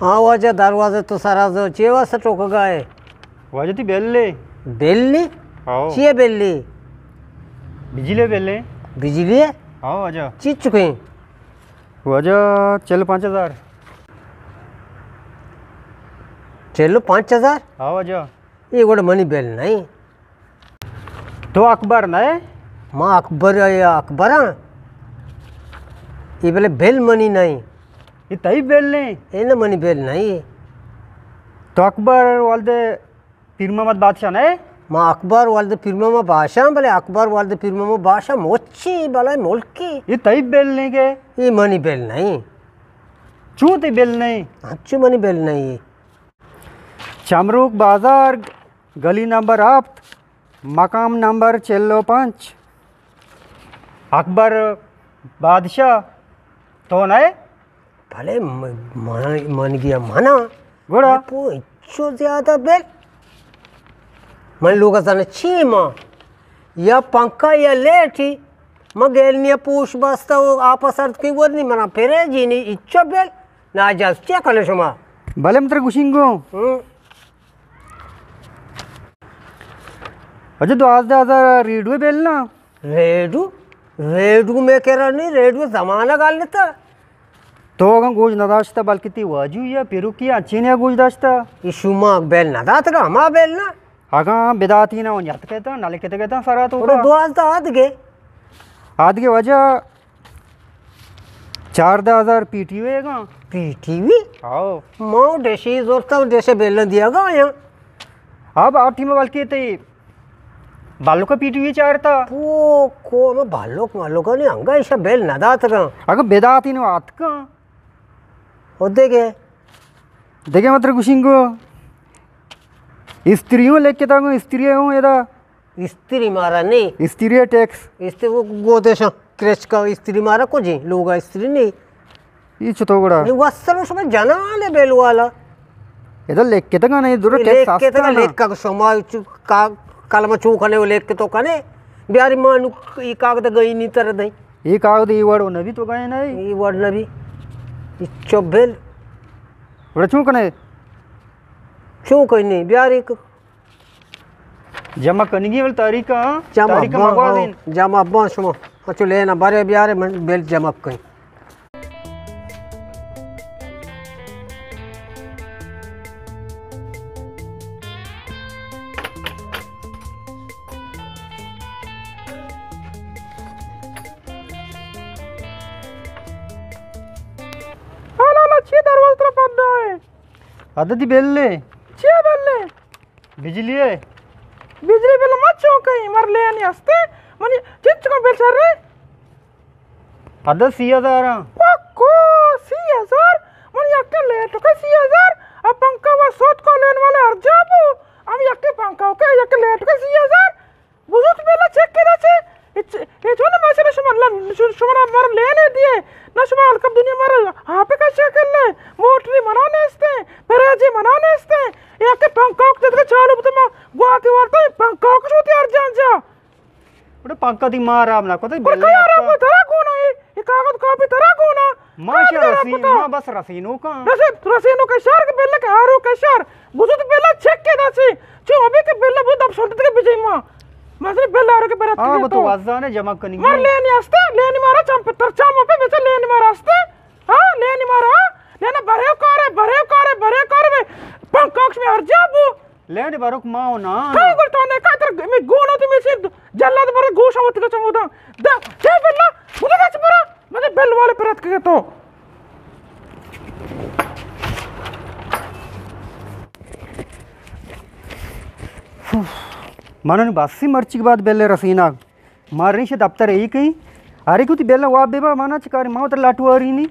ہاں واجہ، دروازہ تو سرا زو، چے واسطہ ٹوکگا ئے؟ واجہ تئی بل ئے۔ بل ئے؟ ہاؤ۔ چی ئے بل ئے؟ بجلی بل ئے۔ بجلی ئے؟ ہاؤ واجہ۔ چی چکیں؟ واجہ چل پنچ ہزار۔ چل پنچ ہزار؟ ہاؤ واجہ۔ اے گڑا منی بل نہ ایں۔ تو اکبر نہ ئے؟ ما اکبر، اکبر آں۔ اے بلے بل منی نہ ایں۔ اے تئی بل نہ ایں؟ اے نہ منی بل نہ ایں۔ تو اکبر ولد پیر محمد بادشاہ نہ ئے؟ ما اکبر ولد پیر محمد بادشاہ آں، بلے اکبر ولد پیر محمد بادشاہ مچی بلائیں ملکی۔ اے تئی بل نہ ایں کہ؟ اے منی بل نہ ایں۔ چوں تئی بل نہ ایں؟ انچو منی بل نہ ایں۔ چمروک بازار، گلی نمبر ہپت، مقام نمبر چل و پنچ۔ اکبر بادشاہ تو نہ ئے؟ بلے م-، من، من گیا منا۔ گڑا؟ پو انچو زیادہ بل۔ من لوگ زن چی ما؟ یا پنکھا یا لیٹی۔ ما گیلنی پوش بستا و آپا سرد کی ورنی منا پھرے جینی انچو بل۔ ناجائز چیا کنے شما؟ بلے من ترا گوشینگو۔ ہوں۔ اچھا، دوازدہ ہزار ریڈیو بل نا؟ ریڈیو؟ ریڈیو میں کرا نہیں، ریڈیو زمانہ گالتا۔ تو اگاں گوش نداشتا، بلکہ تی واجو یا پیروکی انچینیا گوش داشتا۔ یہ شما بل نداتگا، ہما بل نا؟ اگاں بداتی نا، اون یات کہتا، نہ لکھتے کہتا سرا تو اور کا۔ دوازدہ آدگے۔ آدگے واجہ چاردہ ہزار پی ٹی وی گا۔ پی ٹی وی؟ ہاؤ۔ ما ڈشی زورتا، ڈشے بیلن دیا گا یا۔ اب آ ٹیم بلکہ تی بالو کا پی ٹی وی چارتا۔ او کو ما بالو، بالو کا نہیں، انگا ایشا بیل نہ دات گا۔ اگر بداتی نو آت کا۔ او دے گے۔ دے گے مطلب گوشنگو۔ استریوں لکھتا گو، استریوں ادا۔ استری مارا نہیں۔ استری ٹیکس۔ استری وہ گودے شا کرچ کا استری مارا کو جی، لوگا استری نہیں۔ یہ چطور گڑا؟ یہ وسر شما جنان ہے بیل والا۔ ادا لکھتا گا نہیں، درو ٹیکس لکھتا آستا گا نا۔ لکھا شما چو کا-، کلمہ چو کنے و لکھ تو کنے۔ بیاری مانو یہ کاغذ گئی نہیں تر دیں۔ یہ کاغذ یہ وڑ نبی تو گئے نہیں۔ یہ وڑ نبی۔ یہ چو بیل۔ وڑ چون کنے؟ چون کنے؟ بیاری ک-، جمع کنگی ول تاریخ، ہاں؟ جمع تاریخ بان، مگوازین۔ ہاں، جمع بان شما۔ اچھو لینا بارے بیارے من بیل جمع کن۔ حالا چی دروازہ ترا پڑھنا ہے؟ عددی بیل لے۔ چی بیل لے؟ بجلی ہے۔ بجلی بل ما چون کئی، مر لیانی ہستے، منی چنچ کو بل شر ہے؟ پدا سی ہزار ہاں۔ پکو سی ہزار؟ من یک لیٹ کا سی ہزار، اب پنکھا و سوت کو لین والے ہر جابو، ہم یک پنکھا کے یک لیٹ کا سی ہزار، بزرگ بیلا چیک کرا چے؟ اے چ-، اے چون ماشاءاللہ شما ل-، ش-، شما را مر لینے دیے۔ نہ شما الکم دنیا مر آپ کا چیک کر لے۔ موٹری منا نیستے، پراجی منا نیستے۔ اے کہ پنکھا کے جدگا چالو بتا ما گواتی وارتا پنکھا کے شوتی ہر جان جا۔ بڑے پنکھا دی مار آپ نہ کوتے پر بیلے کیا آپ رام کا۔ ترا گونا ہے؟ یہ کاغذ کاپی ترا گونا؟ ما کاغذ شا رام رسین، پتا۔ ما بس رسینو کا۔ رسین، رسینو کا شار کے بیلے کے ہارو کا شار۔ بزرگ بیلا چیک کے دا چے۔ چو ابھی کے بیلا بہت اب سنت کے بجے ما۔ مزے بیل آرو کے برات آ، کے وہ تو تو۔ وزانے جمع کنی۔ مار لینی ہستے، لینی مارا چم پتر چم پہ بیچا لینی مارا ہستے۔ ہاں، لینی مارا، لینا بریو کارے، بریو کارے، بریو کارے میں پنکاکش میں ہر جا بو۔ لینی باروک ما ہو نا۔ کئی گل تو نے کا تر میں گونا تو میں سے جلاد بر گوش ہوت کا چمودا۔ دا، دے بیلا، مجھے کچھ برا، مجھے بیل والے پر اتک کے تو۔ من نی باسی مرچی کے بعد بیلے رسیناگ۔ ما ریش دفتر ای کئی۔ ارے کو تی بیلا واب بے با مانا چکاری ما تر لاٹو آری نی۔